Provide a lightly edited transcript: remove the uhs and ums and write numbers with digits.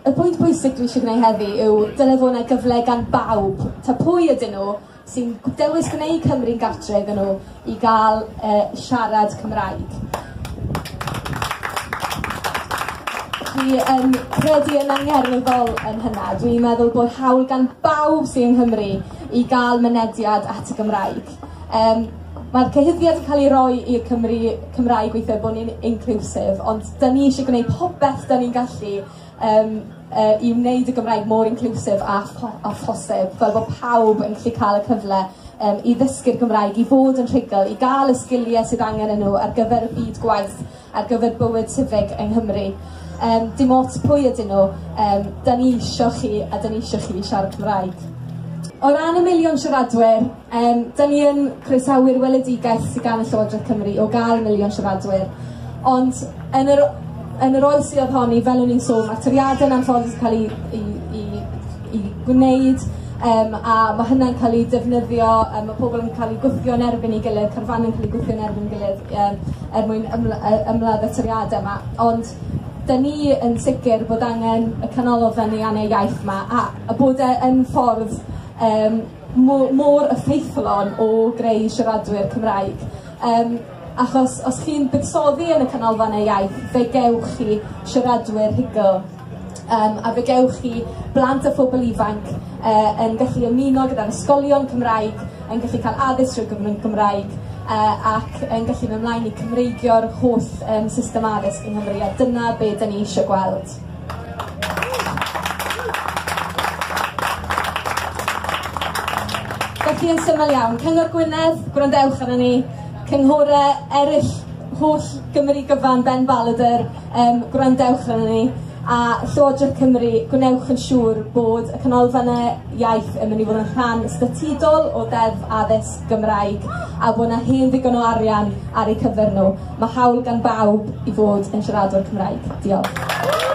Y pwynt pwysig dwi eisiau gwneud heddi yw dyle fod yna gyfle gan bawb, ta pwy ydyn nhw, sy'n dewis gwneud Cymru'n gartre iddyn nhw i gael siarad Cymraeg. Dwi yn credu yn angerddol yn hynna. Dwi'n meddwl bod hawl gan bawb sy'n yng Nghymru i gael mynediad at y Gymraeg. Mae'r cyhuddiad yn cael ei roi i'r Cymru Cymraeg weithiau bod ni'n inclusive, ond da ni eisiau gwneud popeth da ni'n gallu i wneud y Gymraeg mor inclusive a phosib, fel bod pawb yn gallu cael y cyfle i ddysgu'r Gymraeg, i fod yn rhugl, i gael y sgiliau sydd angen yn nhw ar gyfer y byd gwaith, ar gyfer bywyd civic yng Nghymru. Dim ots pwy ydyn nhw, da ni isio chi a da ni isio chi siarad Cymraeg. O ran y miliwn siaradwyr, da ni yn croesawu'r weledigaeth sydd gan y Llywodraeth Cymru o gael miliwn siaradwyr, ond yn yr oes sydd ohoni, fel o'n i'n sôn, mae'r toriadau yn anffodus yn cael ei gwneud, a mae hynna'n cael ei defnyddio, mae pobl yn cael eu gwthio yn erbyn ei gilydd, carfannau'n cael eu gwthio yn erbyn ei gilydd er mwyn ymladd y toriadau yma. Ond da ni yn sicr bod angen y canolfannau iaith yma, a bod e yn ffordd mor effeithlon o greu siaradwyr Cymraeg. Achos os chi'n buddsoddi yn y canolfannau iaith, fe gewch chi siaradwyr rhugl. A fe gewch chi blant a phobl ifanc yn gallu ymuno gyda'r ysgolion Cymraeg, yn gallu cael addysg trwy gyfrwng Cymraeg, ac yn gallu mynd ymlaen i Cymreigio'r holl system addysg yng Nghymru, a dyna be da ni eisiau gweld. Felly yn syml iawn, Cyngor Gwynedd, gwrandewch arno ni, cynghorau eraill holl Gymru gyfan, Ben Baladr, gwrandewch arno ni, a Llywodraeth Cymru, gwnewch yn siŵr bod y canolfannau iaith yn mynd i fod yn rhan statudol o Ddeddf Addysg Gymraeg a bod yna hen ddigon o arian ar eu cyfer nhw. Mae hawl gan bawb i fod yn siaradwr Cymraeg. Diolch.